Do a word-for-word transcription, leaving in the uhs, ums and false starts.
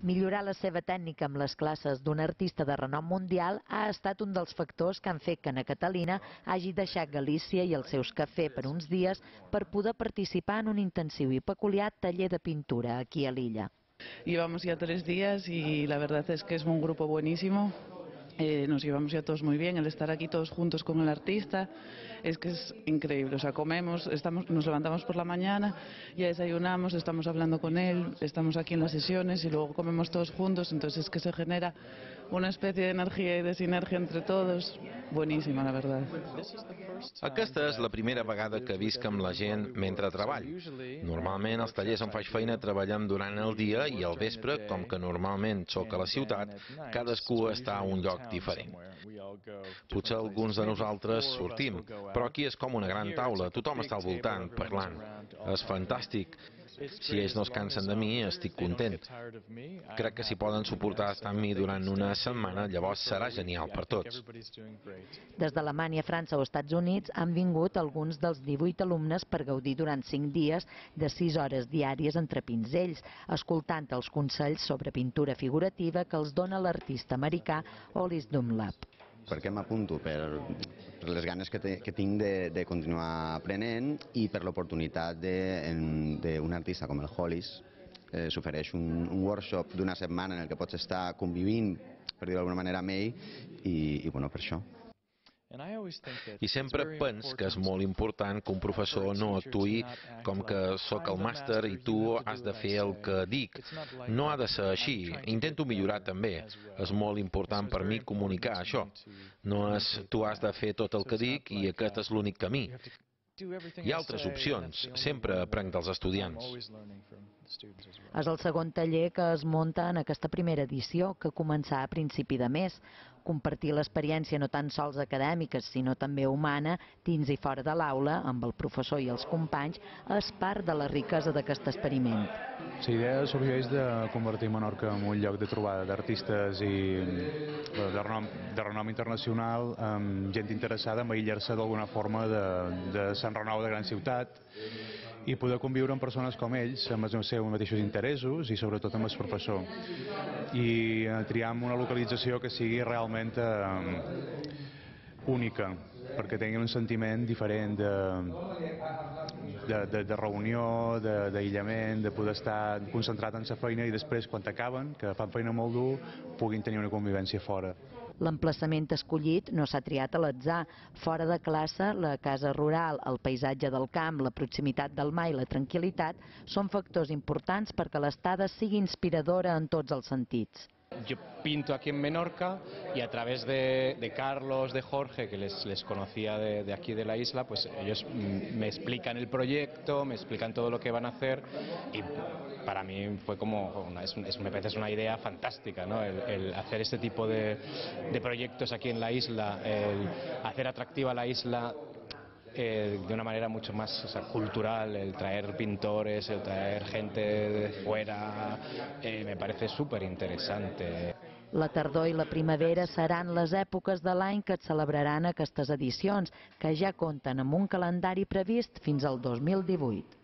Millorar la seva tècnica amb les classes d'un artista de renom mundial ha estat un dels factors que han fet que Ana Catalina hagi deixat Galícia i els seus cafès per uns dies per poder participar en un intensiu i peculiar taller de pintura aquí a l'illa. Llevamos ya tres días y la verdad es que es un grupo buenísimo. Eh, nos llevamos ya todos muy bien, el estar aquí todos juntos con el artista es que es increíble, o sea, comemos, estamos, nos levantamos por la mañana, ya desayunamos, estamos hablando con él, estamos aquí en las sesiones y luego comemos todos juntos, entonces es que se genera una especie de energía y de sinergia entre todos, buenísima la verdad. Aquesta és la primera vegada que visc amb la gent mentre treballo. Normalment als tallers on faig feina treballem durant el dia i al vespre, com que normalment sóc a la ciutat, cadascú està a un lloc diferent. Potser alguns de nosaltres sortim, però aquí és com una gran taula, tothom està al voltant, parlant. És fantàstic. Si ells no es cansen de mi, estic content. Crec que si poden suportar estar amb mi durant una setmana, llavors serà genial per tots. Des d'Alemanya, França o Estats Units han vingut alguns dels divuit alumnes per gaudir durant cinc dies de sis hores diàries entre pinzells, escoltant els consells sobre pintura figurativa que els dona l'artista americà Hollis Dunlap. Per què m'apunto? Per, per les ganes que, te, que tinc de, de continuar aprenent i per l'oportunitat d'un artista com el Hollis. Eh, S'ofereix un, un workshop d'una setmana en el que pots estar convivint, per dir-ho d'alguna manera, amb ell i, i bueno, per això. I sempre pens que és molt important que un professor no actuï com que sóc el màster i tu has de fer el que dic. No ha de ser així. Intento millorar també. És molt important per mi comunicar això. No és tu has de fer tot el que dic i aquest és l'únic camí. Hi ha altres opcions. Sempre aprenc dels estudiants. És el segon taller que es munta en aquesta primera edició, que començarà a principi de mes. Compartir l'experiència no tan sols acadèmica, sinó també humana, dins i fora de l'aula, amb el professor i els companys, és part de la riquesa d'aquest experiment. La idea sorgeix de convertir Menorca en un lloc de trobada d'artistes i de renom, de renom internacional, amb gent interessada en aïllar-se d'alguna forma de, de Sant Renau de gran ciutat i poder conviure amb persones com ells, amb els seus mateixos interessos i sobretot amb el professor. I triar una localització que sigui realment eh, única, perquè tinguin un sentiment diferent de, de, de, de reunió, d'aïllament, de, de poder estar concentrat en la feina i després, quan acaben, que fan feina molt dur, puguin tenir una convivència fora. L'emplaçament escollit no s'ha triat a l'atzar. Fora de classe, la casa rural, el paisatge del camp, la proximitat del mar i la tranquil·litat són factors importants perquè l'estada sigui inspiradora en tots els sentits. Yo pinto aquí en Menorca y a través de, de Carlos, de Jorge, que les, les conocía de, de aquí de la isla, pues ellos me explican el proyecto, me explican todo lo que van a hacer y para mí fue como, una, es, es, me parece una idea fantástica, ¿no? El, el hacer este tipo de, de proyectos aquí en la isla, el hacer atractiva la isla Eh, de una manera mucho más o sea, cultural, el traer pintores, el traer gente de fuera, eh, me parece súper interesante. La tardor i la primavera seran les èpoques de l'any que et celebraran aquestes edicions, que ja compten amb un calendari previst fins al dos mil divuit.